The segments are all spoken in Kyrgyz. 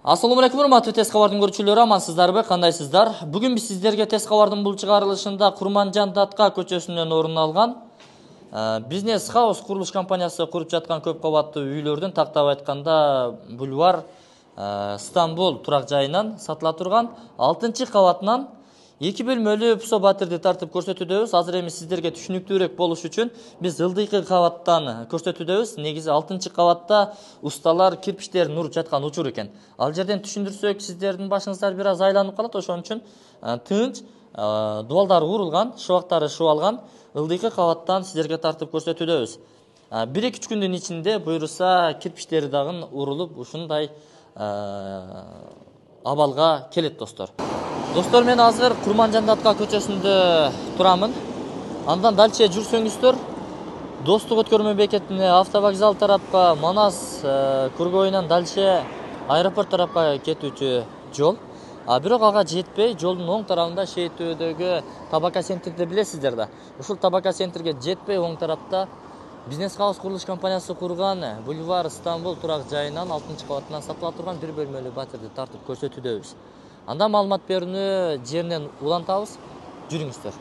Ассаламу алейкум, урматтуу тез кабардын көрүүчүлөрү, амансыздарбы, кандайсыздар? Бүгүн биз сиздерге тез кабардын бул чыгарылышында Курманжан Датка көчөсүнөн орун алган бизнес хаус курулуш компаниясы куруп жаткан көп кабаттуу үйлөрдүн, тактап айтканда бульвар Стамбул турак жайынан сатыла турган 6-кабатынан 2 бөлмөлүү пусо батирди тартып көрсөтүүдөбүз. Азыр эми сиздерге түшүнүктүүрөөк болуш үчүн биз ылдыйкы кабаттан көрсөтүүдөбүз. Негизи 6-кабатта усталар кирпичтерин уруп жаткан учур экен. Ал жерден түшүндүрсөк, сиздердин башыңыздар бир аз айланып калат, ошон үчүн тынч, дубалдары урулган, шыбактары шыбалган ылдыйкы кабаттан сиздерге тартып көрсөтүүдөбүз. 1-2 күндүн ичинде буюрса кирпичтери дагы урулуп ушундай абалга келет достор. Достор, мен азыр Курманжан Датка көчөсүндө турамын. Андан дальше жүрсөңүздөр, Достук өткөрмө бекетине, автовокзал тарапка, Манас кургоюнан дальше аэропорт тарапка кетүүчү жол. Бирок ага жетпей, жолдун оң тарабында Шейтөөдөгү Табака центрди билесиздер да. Ушул Табака центрге жетпей, оң тарапта бизнес хаус курулуш компаниясы курган бульвар Стамбул турак жайынан 6-кабатынан сатыла турган 1 бөлмөлүү батирди тартып көрсөтүүдөбүз. Анда маалымат берүүнү жеринен улантабыз. Жүрүңүздөр.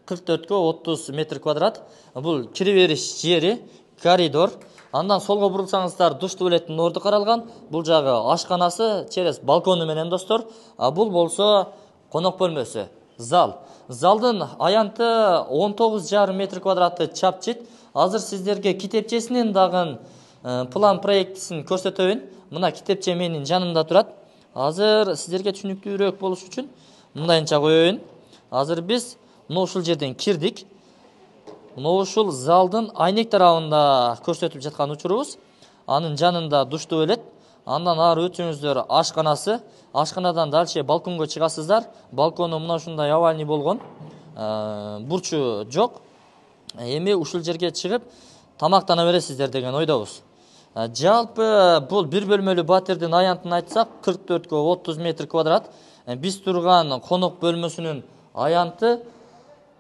44-30 метр квадрат. Бул кире бериш жери, коридор. Андан солго бурулсаңыздар, душ туалеттин орду каралган. Бул жагы ашканасы, через балкону менен достор. Бул болсо конок бөлмөсү, зал. Залдын аянты 19,5 метр квадратты чапчыт. Азыр сиздерге китепчесинин дагы план проектисин көрсөтөйүн. Мына китепче менин жанымда турат. Азыр сиздерге түшүнүктүүрөөк болуш үчүн мындайынча коеюн. Азыр биз ушул жерден кирдик. Ушул залдын айнек тарабында көрсөтүп жаткан учурубуз. Анын жанында душ туалет. Андан ары өтсөңүздөр ашканасы. Ашканадан дальше балконго чыгасыздар. Балкону мына ушундай овальный болгон. Бурчу жок. Эми ушул жерге чыгып тамактана бересиздер деген ойдобуз. Жалпы бул 1 бөлмөлүү батирдин аянтын айтсак 44-30 метр квадрат. Биз турган конок бөлмөсүнүн аянты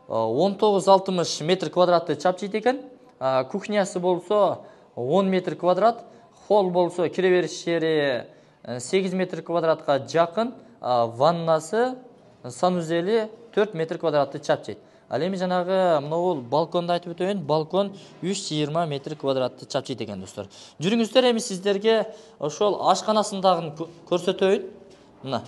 19-60 метр квадратты чапчыйт экен. Кухнясы болсо 10 метр квадрат. Холл болсо кире бериш жери 8 метр квадратка жакын. Ваннасы, санузели 4 метр квадратты чапчыйт. Ал эми жанагы могул балконду айтып өтөйүн. Балкон 320 метр квадратты чапчыйт экен достор. Жүрүңүздөр, эми сиздерге ошол ашканасын дагы көрсөтөйүн. Мына.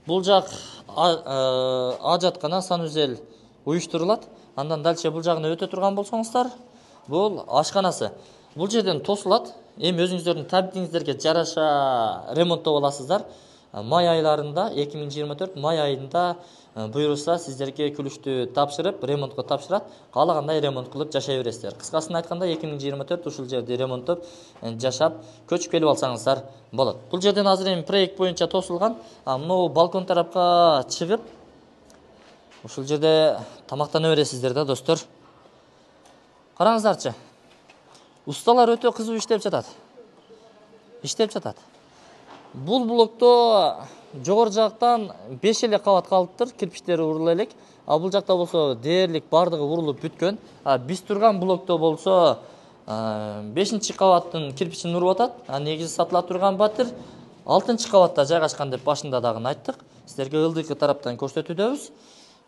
Бул жак ажаткана, санузел уюштурулат. Андан дальше бул жагына өтө турган болсоңуздар, бул ашканасы. Бул жерден тосулат. Эми өзүңүздөрдүн табитиңиздерге жараша ремонттоп аласыздар. Май айларында, 2024 май айында буюрса сиздерге күлүштү тапшырып, ремонтко тапшырат. Каалагандай ремонт кылып жашай бересиздер. Кыскасын айтканда 2024 ушул жерди ремонттоп, жашап, көчүп келип алсаңыздар болот. Бул жерден азыр эми проект боюнча тосулган. Мына балкон тарапка чыгып, ушул жерде тамактана бересиздер да достор. Караңыздарчы. Усталар өтө кызуу иштеп жатат. Бул блокто жогору жактан 5 эле кабат калыптыр, кирпичтери урулуп элек. Бул жакта болсо дээрлик бардыгы урулуп бүткөн. Биз турган блокто болсо 5-кабаттын кирпичин уруп атат. Негизи сатыла турган батир 6-кабатта жайгашкан деп башында дагы айттык. Сиздерге ылдыйкы тараптан көрсөтүүдөбүз.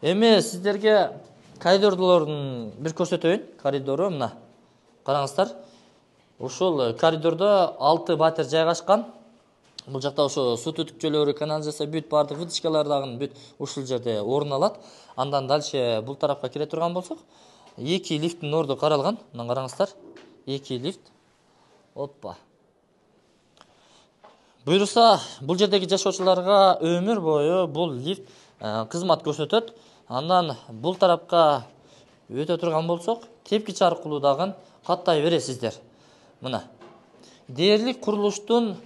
Эми сиздерге коридорлордун бир көрсөтөйүн. Коридору мына. Караңыздар. Ушул коридордо 6 батир жайгашкан. Бул жакта ошо суу түтүкчөлөрү, канализация бүт бардык вытычкалар дагы бүт ушул жерде орун алат. Андан дальше бул тарапка кире турган болсок, 2 лифттин орду каралган. Мына караңыздар. 2 лифт. Оппа. Буюрса, бул жердеги жашоочуларга өмүр бою бул лифт кызмат көрсөтөт. Андан бул тарапка өтө турган болсок, тепкич аркылуу дагы каттай бересиздер. Мына. Дээрлик курулуштун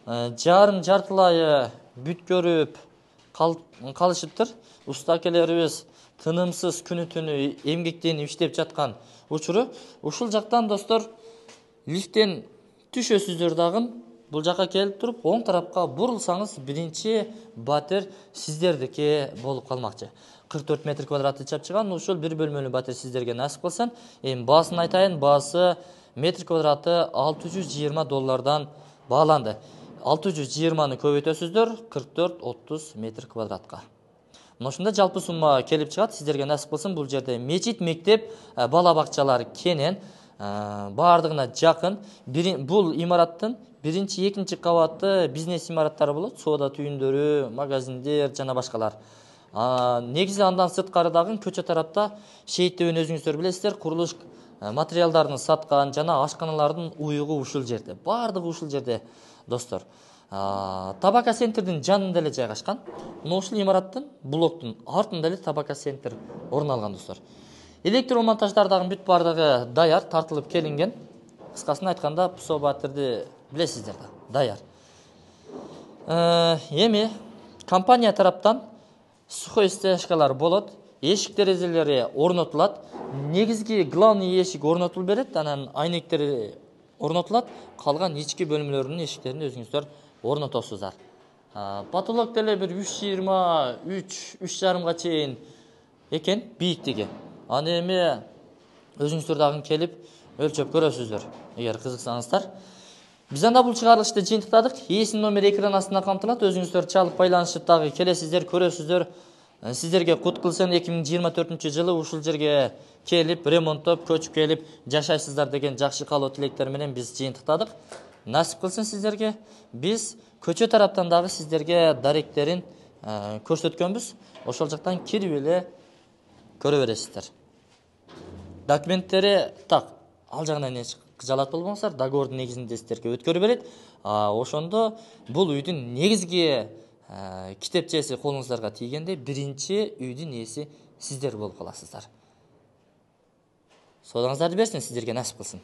жартылайы бүт көрүп калышыптыр. Уста акелерибиз тынымсыз күнү-түнү эмгектенип иштеп жаткан учуру. Ушул жактан достор лифттен түшөсүздөр дагы бул жака келип туруп, оң тарапка бурулсаңыз, биринчи батир сиздердики болуп калмакчы. 44 метр квадратты чапчыган ушул 1 бөлмөлүү батир сиздерге насип кылсын. Эми баасын айтайын, баасы метр квадраты $620 бааланды. 620-ны көбөйтөсүздөр 44-30 метр квадратка. Мына ушунда жалпы сумма келип чыгат. Сиздерге насип кылсын. Бул жерде мечит, мектеп, бала бакчалар кенен, баардыгына жакын. Бул имараттын 1-2 кабаты бизнес имараттары болот. Соода түйүндөрү, магазиндер жана башкалар. Негизи андан сырткары дагы көчө тарапта Шейит деп өзүңүздөр билесиздер, курулуш материалдарын саткан жана ашканалардын уюгу ушул жерде. Баардыгы ушул жерде, достор. Табака центрдин жанында эле жайгашкан. Мына ушул имараттын, блоктун артында эле Табака центр орун алган, достор. Электромонтаждар дагы бүт баардыгы даяр, тартылып келинген. Кыскасын айтканда, пусобатерди билесиздер да, даяр. Эми компания тараптан сухой стяжкалар болот, эшик терезелери орнотулат. Негизги главный эшик орнотулуп берет, анан айнектери орнотулат. Калган ички бөлмөлөрүнүн эшиктерин өзүңүздөр орнотосуздар. Потолок деле бир 3,20-3,5га чейин экен бийиктиги. Аны эми өзүңүздөр дагы келип өлчөп көрөсүздөр, эгер кызыксаңыздар. Биз анда бул чыгарылышты жыйынтыктадык. Ээсинин номери экран астында камтылат. Өзүңүздөр чалып байланышып дагы келесиздер, көрөсүздөр. Сиздерге кут кылсын, 2024-жылы ушул жерге келип, ремонттоп, көчүп келип жашайсыздар деген жакшы каалоо тилектер менен биз жыйынтыктадык. Насип кылсын сиздерге. Биз көчө тараптан дагы сиздерге даректерин көрсөткөнбүз. Ошол жактан кирип эле көрө бересиздер. Документтери так, ал жагынан эч кыжалат болбоңуздар. Договордун негизинде сиздерге өткөрүп берет. Ошондо бул үйдүн негизги китепчеси колуңуздарга тийгенде биринчи үйдүн ээси сиздер болуп каласыздар. Соодаңыздарды берсин, сиздерге насип кылсын.